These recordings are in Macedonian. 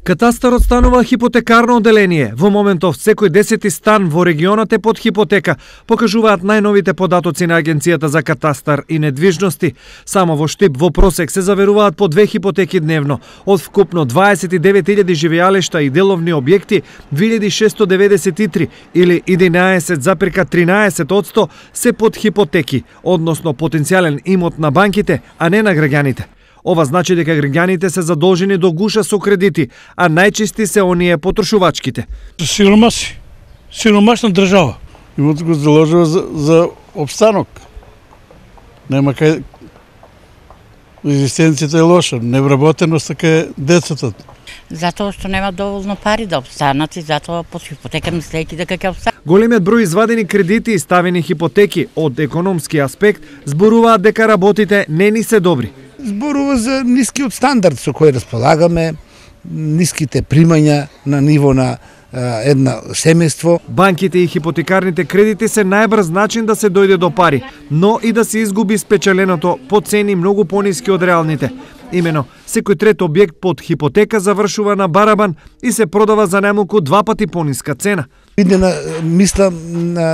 Катастарот станува хипотекарно одделение. Во моментов секој 10-ти стан во регионот е под хипотека, покажуваат најновите податоци на Агенцијата за катастар и недвижности. Само во Штип во просек се заверуваат по 2 хипотеки дневно. Од вкупно 29.000 живеалишта и деловни објекти, 2693 или 11,13% се под хипотеки, односно потенцијален имот на банките, а не на граѓаните. Ова значи дека граѓаните се задолжени до гуша со кредити, а најчести се оние потрошувачките. Сиромашна држава. Имот го заложува за обстанок. Нема кај... Екзистенцијата е лоша, невработеност така е децата. Затоа што нема доволно пари да обстанат и затоа под хипотека мислејќи дека ќе обстанат. Големиот број извадени кредити и ставени хипотеки од економски аспект зборуваат дека работите не ни се добри. Зборува за нискиот стандард со кој располагаме, ниските примања на ниво на една семејство. Банките и хипотекарните кредити се најбрз начин да се дојде до пари, но и да се изгуби спечеленото по цени многу пониски од реалните. Имено, секој трет објект под хипотека завршува на барабан и се продава за најмалку 2 пати пониска цена. Мислам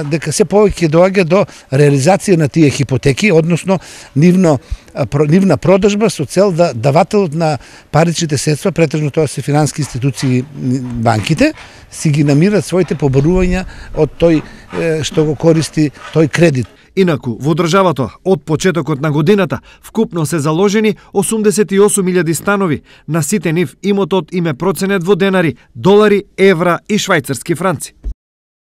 дека се повеќе доаѓа до реализација на тие хипотеки, односно нивна продажба со цел да давателот на паричните средства, претежно тоа се финансиски институции, банките, си ги намират своите побарувања од тој што го користи тој кредит. Инаку, во државата, од почетокот на годината, вкупно се заложени 88.000 станови. На сите нив имотот им е проценет во денари, долари, евра и швајцарски франци.